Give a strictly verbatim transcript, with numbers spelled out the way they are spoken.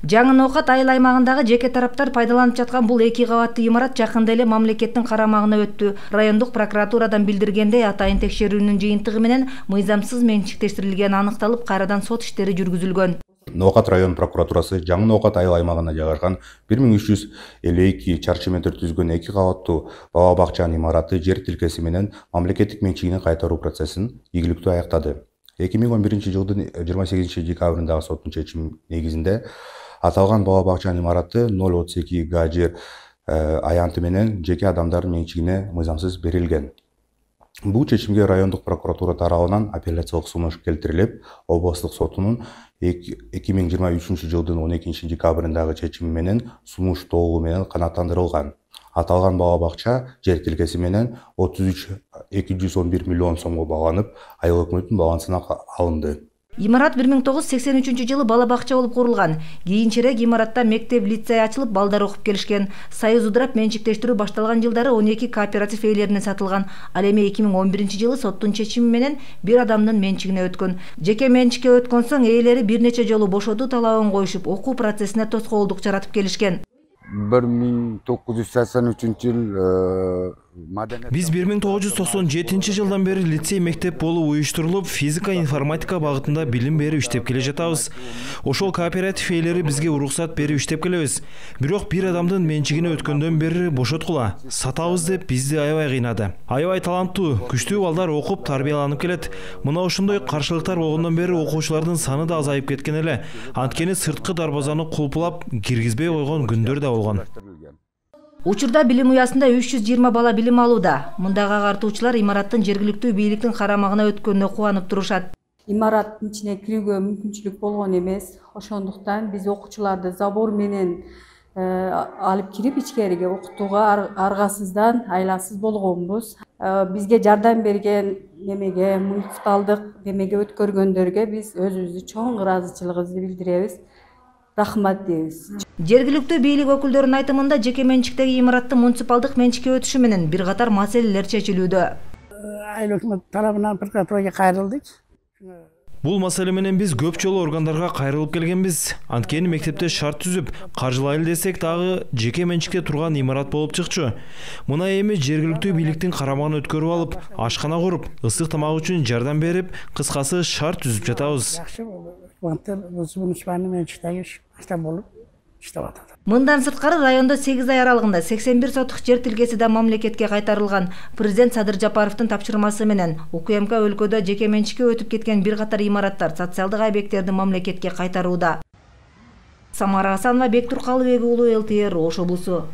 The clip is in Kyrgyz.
Жаңы Ноокат айыл аймагындагы жеке тараптар пайдаланып жаткан бул эки кабаттуу имарат жакында эле мамлекеттин карамагына өттү. Райондук прокуратурадан билдиргендей, атайын текшерүүнүн жыйынтыгы менен мыйзамсыз менчиктештирилгени аныкталып, кайрадан сот иштери жүргүзүлгөн. Ноокат район прокуратурасы Жаңы Ноокат айыл аймагына жайгашкан бир миң үч жүз элүү эки чарчы метр түзгөн эки кабаттуу бала бакчанын имараты жер тилкеси менен мамлекеттик менчигине кайтаруу процессин ийгиликтүү аяктады. эки миң он биринчи жылдын жыйырма сегизинчи декабрындагы соттун чечими негизинде аталган бала бакчанын имараты ноль отуз эки га жер аянты менен жеке адамдардын менчигине мыйзамсыз берилген. Бул чечимге райондук прокуратура тарабынан апелляциялык сунуш келтирилип, областык сотунун эки миң жыйырма үчүнчү жылдын он экинчи декабрындагы чечими менен сунуш толугу менен канааттандырылган. Аталган бала бакча жер тилкеси менен отуз үч эки жүз он бир миллион сомго багланып, айыл өкмөттүн балансына алынды. Имарат бир миң тогуз жүз сексен үчүнчү жылы бала бакча болуп курулган. Кийинчерээк имаратта мектеп, лицей ачылып, балдар окуп келишкен. Союз удурап менчиктештирүү башталган жылдары он эки кооператив ээлерине сатылган. Ал эми эки миң он биринчи жылы соттун чечими менен бир адамдын менчигине өткөн. Жеке менчикке өткөн соң ээлери бир нече жолу бошотуу талабын коюшуп, окуу процессине тоскоолдук жаратып келишкен. бир миң тогуз жүз сексен үчүнчү жыл Биз бир миң тогуз жүз токсон жетинчи жылдан бери лицей мектеп болуп уюштурулуп, физика, информатика багытында билим берип иштеп келе жатабыз. Ошол кооператив ээлери бизге уруксат берип иштеп келебиз. Бирок бир адамдын менчигине өткөндөн бери бошоткула, сатабыз деп бизди аябай кыйнады. Аябай таланттуу, күчтүү балдар окуп, тарбияланып келет. Мына ошондой каршылыктар болгондон бери окуучулардын саны да азайып кеткен эле. Анткени сырткы дарбазаны кулпулап, киргизбей койгон күндөр да болгон. Учурда билим уясында үч жүз жыйырма бала билим алууда. Мындагы агартуучулар имараттын жергиликтүү бийликтин карамагына өткөнүнө кубанып турушат. Имараттын ичине кирүүгө мүмкүнчүлүк болгон эмес. Ошондуктан биз окуучуларды забор менен алып кирип ичкериге окутууга аргасыздан айласыз болгонбуз. Бизге жардам берген немеге, муниципалдык немеге өткөргөндөргө биз өзүбүздүн чоң ыраазычылыгыбызды билдиребиз. Рахмат дейбиз. Жергиликтүү бийлик өкүлдөрүнүн айтымында жеке менчиктеги имараттын муниципалдык менчикке өтүшү менен бир катар маселелер чечилүүдө. Айыл өкмөт тарабынан прокуратурага кайрылдык. Бул маселе менен биз көп жолу органдарга кайрылып келгенбиз. Анткени мектепте шарт түзүп, каржылайлы десек дагы жеке менчикте турган имарат болуп чыкчу. Мына эми жергиликтүү бийликтин карамагына өткөрүп алып, ашкана куруп, ысык тамак үчүн жардам берип, кыскасы шарт түзүп жатабыз. Мындан сырткары райондо сегиз ай аралыгында сексен бир сотук жер тилкеси да мамлекетке кайтарылган. Президент Садыр Жапаровдун тапшырмасы менен УКМК өлкөдө жеке менчикке өтүп кеткен бир катар имараттар, социалдык объекттерди мамлекетке кайтарууда. Самара Асанова, Бектур Калыбек уулу, эл ти эр Ош облусу.